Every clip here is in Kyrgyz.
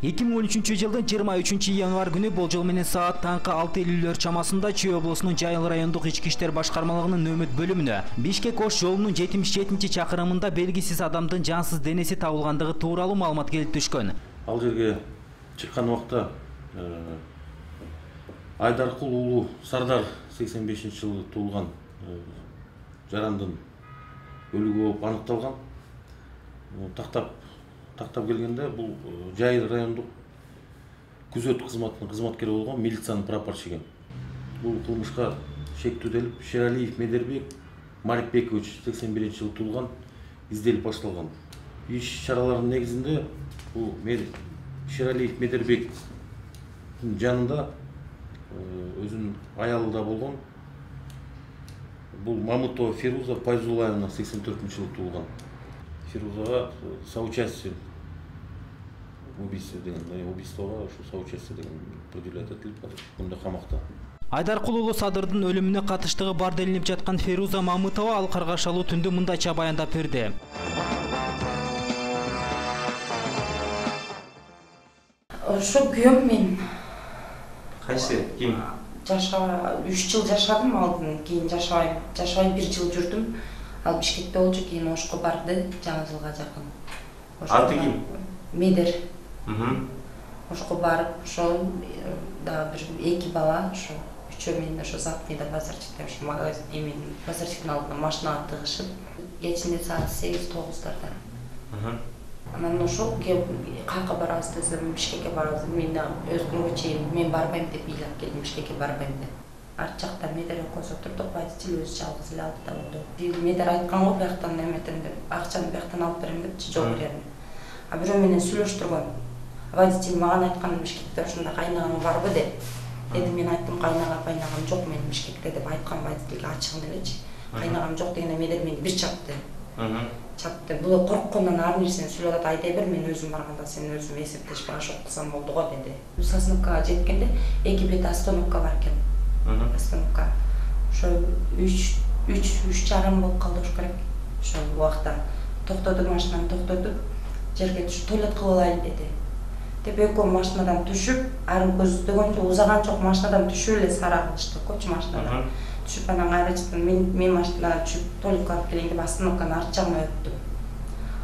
2013-жылдын 23 январь күнү болжол менен саат таңкы 6:50 чамасында Чүй облусунун Жайыл райондук ички иштер башкармалыгынын нөмөт бөлүмүнө Бишкек-Ош жолунун 77-чакырымында белгисиз адамдын жансыз денеси табылгандыгы тууралуу маалымат келип түшкөн. Ал жерге чыккан убакта Айдаркул уулу Сардар 85-жылы туулган жарандын өлүгү болуп аныкталган. Тактап келгенде бул Жайыл райондук күзөт кызматынын кызматкери болгон милициянын прапорщиги. Бул кылмышка шектүүделип Шералиев Медербек Марикбекович 81-жылы туулган изделип башталган. Иш чараларынын негизинде бул Шералиев Медербектин жанында өзүнүн аялы да болгон бул Мамытова Фируза Пайзулаевна 84-жылы туулган. Фирузага соучастие убийство деген, убийствого соучастие деген предъявлять этилип бунда камакта. Айдаркул уулу Садырдын өлүмүнө катыштыгы бар делинип жаткан Фируза Мамытова ал каргашалуу түндө мындайча баяндап берди. Ошо күйөөм мен. Кайсы? Ким? 3 жыл жашадым, алдын кийин жашабай 1 жыл жүрдүм. Ал Бишкекте болчу, кийин Ошко барды, жаңы жылга жакын. Аты ким? Медер. Ошко барып, ошо да бир 2 бала, ошо үчөө мен ошо Запнида базарчыкта, ошо магазин эменин базарчыктын алдына машинага тыгышып, кечинде саат 8-9-дарда. Анан ошо каяка барабыз десем, Бишкекке барабыз. Мен өз күнгө чейин мен барбайм деп ыйлап келдим, Бишкекке барбайм деп. Арт жакта Медер экөөбүз отурдук, водитель өзү жалгыз эле алды да болду. Медер айткан го бияктан эметем деп, акчаны бияктан алып берем депчи, жок берем. А бирөө менен сүйлөштүргөн. Водитель мага айткан, Бишкекте ошондой кайнагаң барбы деп. Эми мен айттым, кайнагам жок менин Бишкекте деп айткан водительге ачыгын элечи. Кайнагам жок дегенде Медер мени бир чапты. Чапты. Бул корккондон ар нерсени сүйлөп атат, айта бер, мен өзүм барганда сен өзүм эсептешип ашып кылсам болду го деди. Сосновкага жеткенде 2 бет остановка бар экен. Остановка. Ошо 3:30 болуп калды ошо керек. Ошол убакта токтоду, машинаны токтотуп, жерге түшүп туалет кылып алайын деди. Деп экөө машинадан түшүп, ары көздөгөнчө узаган жок, машинадан түшүп эле сара кылышты, көчү машинадан. Түшүп анан кайра чыктым, мен машинадан түшүп, туалетке барып келейин деп остановканын арт жагына өттүм.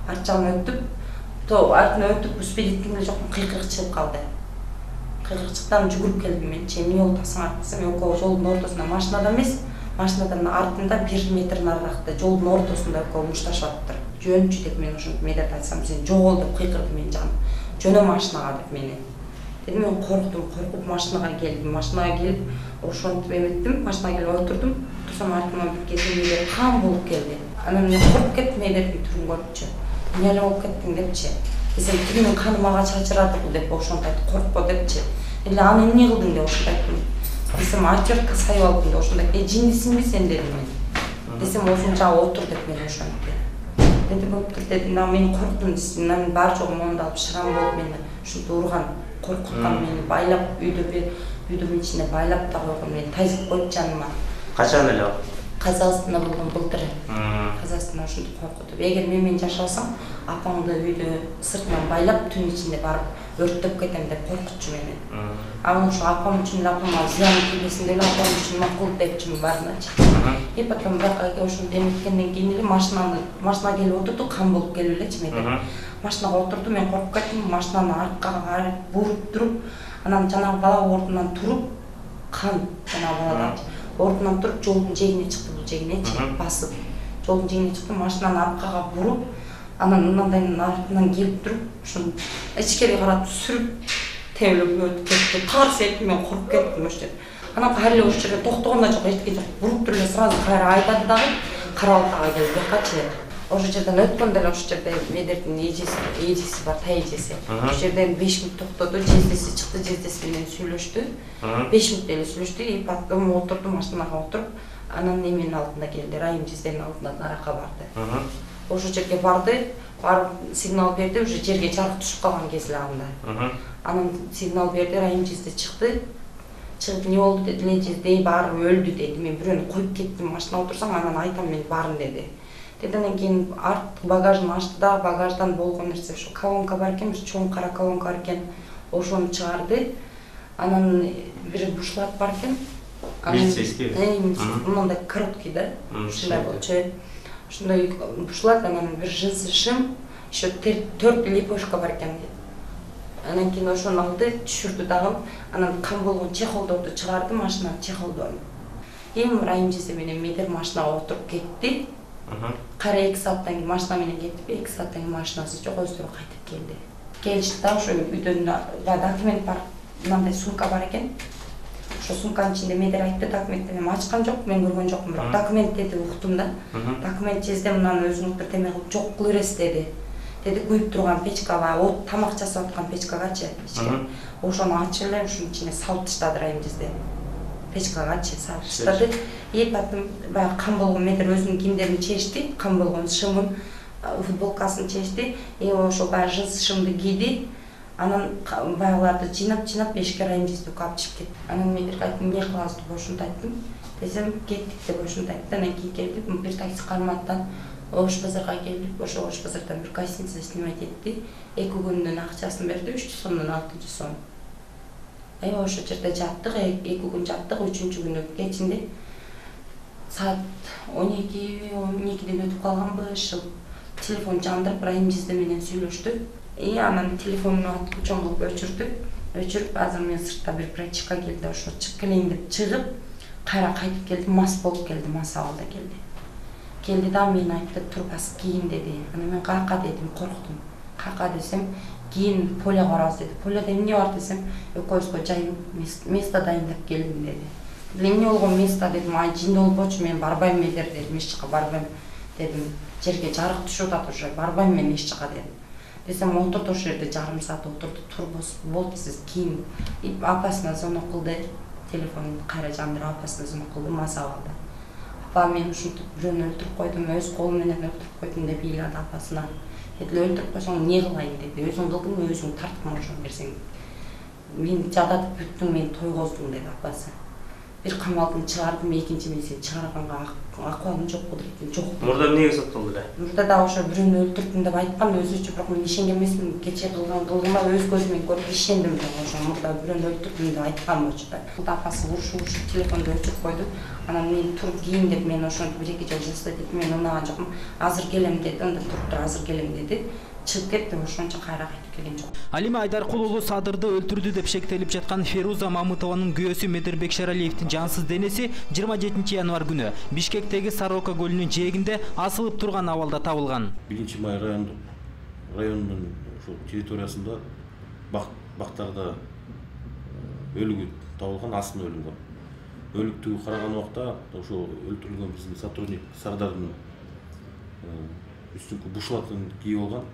Арт жагына өтүп, артына өтүп, успеть эткем эле жокмун, кыйкырык чыгып калды. Кыйкырчыктан жүгүрүп келдим мен, эмне болду тасың артысым, экөө жолдун ортосунда машинадан эмес, машинадан артында 1 метр нарыракта жолдун ортосунда экөө мушташып атыптыр. Жөнчү деп мен ошентип Медерди айтсам, сен жогол деп кыйкырды менин жаным. Жөнө машинага деп мени. Дедим, мен коркуп машинага келдим. Машинага келип, ошентип эметтим, машинага келип отурдум. Турсам артыма бир кезде Медер кан болуп келди. Анан мен коркуп кеттим Медердин түрүн көрүпчү. Эмне болуп кеттиң депчи. Десем, тигинин каны мага чачырады деп ошентип айтты, коркпо депчи. Эле аны эмне кылдың деп ошентип айттым. Десем, отвертка сайып алдым деп ошентип айтты. Жиндисиңби сен дедим мен. Десем, ошонча отур деп мен ошентип. Деди, болуптур деди. Мен корктум, мен бар жогу моунду алып шрам болуп мени ушинтип урган, коркуткан мени байлап үйдүн ичине байлап да койгон, мени тайзып коюп жаныма. Качан эле? Казакстанда болгон былтыр. Казакстанда ушинтип коркутуп. Эгер мен жашасам, апаңды үйдө сыртынан байлап түн ичинде барып өрттөп кетем деп коркутчу мени. Аны ошо апам үчүн апама зыян тийбесин деп апам үчүн макул депчимин баарыначы. И потом бияка ошентип эметкенден кийин эле машинага келип отурду, кан болуп келип элечи Медер. Машинага отурду, мен коркуп кеттим, машинаны аркага буруп туруп, анан жанагы бала ордунан туруп, кан жанагы баладан ордунан туруп жолдун жээгине чыкты, бул жээгинечи басып. Жолдун жээгине чыкты, машинаны аркага буруп, анан мындайдын артынан келип туруп, ошону ичкери каратып сүрүп, тебелеп өтүп кетти. Тарс этти, мен коркуп кеттим ошо жерде. Анан кайра эле ошо жерде токтогон да жок, эчтеке жок. Буруп туруп эле сразу кайра айдады дагы, Карабалтага келип бакачы. Ошо жерден өткөндө эле ошо жерде Медердин эжеси бар, тайэжеси. Ошо жерден 5 мүнөт токтоду, жездеси чыкты, жездеси менен сүйлөштү. 5 мүнөт эле сүйлөштү, и потом отурду, машинага отуруп, анан эменин алдына келди, Райым жезденин алдына нарака барды. Ошо жерге барды, барып сигнал берди, уже жерге жарык түшүп калган кез эле анда. Анан сигнал берди, Райым жезде чыкты. Чыгып, не болду деди, жезде баары өлдү деди. Мен бирөөнү коюп кеттим, машинага отурсам, анан айтам мен баарын деди. Андан кийин арттык багажын ачты да, багаждан болгон нерсе ушу колонка бар экен, бир чоң кара колонка бар экен, ошону чыгарды. Анан бир бушлат бар экен. Милицейский. Мындай короткий да, ушундай болчу. Ошондой бушлат, анан бир джинсы шим, еще 4 лепешка бар экен. Анан кийин ошону алды, түшүрдү дагы. Анан кам болгон чехолдорду чыгарды, машинанын чехолдорун. Эми Райым жезе менен Медер машинага отуруп кетти. Кара 2 сааттан кийин машина менен кетип, 2 сааттан кийин машинасы жок, өздөрү кайтып келди. Келишти да, ошо үйдөн документ бар, мындай сумка бар экен. Ошо сумканын ичинде Медер айтты, документти мен ачкан жок, мен көргөн жокмун, бирок документ деди, уктум да. Документ жезде мынаны өзүңүз бир теме кылып жок кылып бересиз деди. Деди күйүп турган печкага, от тамак жасап аткан печкагачы, ошону ачып эле ушунун ичине салып таштады Райым жезде. Печкагачы салып таштады. Потом баягы кам болгон Медер өзүнүн кийимдерин чечти, кам болгон шымын, футболкасын чечти. Ошо баягы джинсы шымды кийди. Анан баягыларды жыйнап эшикке Райым жезде алып чыгып кетти. Анан Медерге айттым, эмне кылабыз деп ошентип айттым. Десем, кеттик деп ошентип айтты. Анан кийин келдик, бир такси карматтан Ош базарга келдик. Ошо Ош базардан бир гостиница снимать этти. 2 күндүн акчасын берди, 300 сомдон 600 сом. Ошо жерде жаттык, 2 күн жаттык, 3-чү күнү кечинде саат 12-ден өтүп калганбы, телефон жандырып Райым жезде менен сүйлөштү. Анан телефонуну атып чоң кылып өчүрүп, азыр мен сыртта бир прачка келди, ошо чыгып келейин деп чыгып, кайра кайтып келди, мас болуп келди, мас абалда келди. Келди да мен айтты, турбас кийин деди. Анан мен кака дедим, корктум. Кака десем, кийин полеге барабыз деди. Поледе эмне бар десем, экөөбүзгө жай место дайындап келдим деди. Эмне болгон место дедим, жин болбочу, мен барбайм Медер дедим, эч жака барбайм дедим. Жерге жарык түшүп атат уже, барбайм мен эч жака дедим. Десем, отурду ошол жерде жарым саат отурду, турбос болду сиз кийин. Апасына звонок кылды, телефонун кайра жандырып апасына звонок кылды, мас абалда. Апа мен ушинтип бирөөнү өлтүрүп койдум, өз колум менен өлтүрүп койдум деп ыйлады апасына. Деди, өлтүрүп койсоң эмне кылайын деди, өзүң кылдың, өзүң тарткын ошону берсең. Мен жадатып бүттүң, мен тойгоздуң деди апасы. Бир камалдын чыгардым, экинчи мен сени чыгарганга акыбалым жок, кудуретим жок. Мурда эмнеге соттолду эле? Мурда да ошо бирөөнү өлтүрдүм деп айткан өзүчө, бирок мен ишенген эмесмин. Кечээ кылгыма өз көзүм менен көрүп ишендим да, ошо мурда бирөөнү өлтүрдүм деп айткан болчу да. Апасы урушуп телефонду өчүрүп койду. Анан мен туруп кийин деп мен ошентип 1-2 жол жастай деп мен унаган жокмун. Азыр келем деди, анда туруп тур, азыр келем деди. Чыгып кетти, ошончо кайра кайтып келген жок. Алима Айдаркул уулу Садырды өлтүрдү деп шектелип жаткан Феруза Мамытованын күйөөсү Медербек Шералиевдин жансыз денеси 27 январь күнү Бишкектеги Сорока көлүнүн жээгинде асылып турган абалда табылган. 1 май районунун ошо территориясында бактарда өлүгү табылган, астында өлүнгөн. Өлүктүгү караган убакта ошо өлтүрүлгөн биздин сотрудник Сардардын үстүнкү бушлатын кийип алган.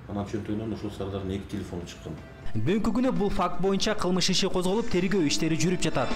Анан чөнтөгүнөн ошол Сардардын 2 телефону чыккан. Бүгүнкү күнү бул факт боюнча кылмыш иши козголуп, тергөө иштери жүрүп жатат.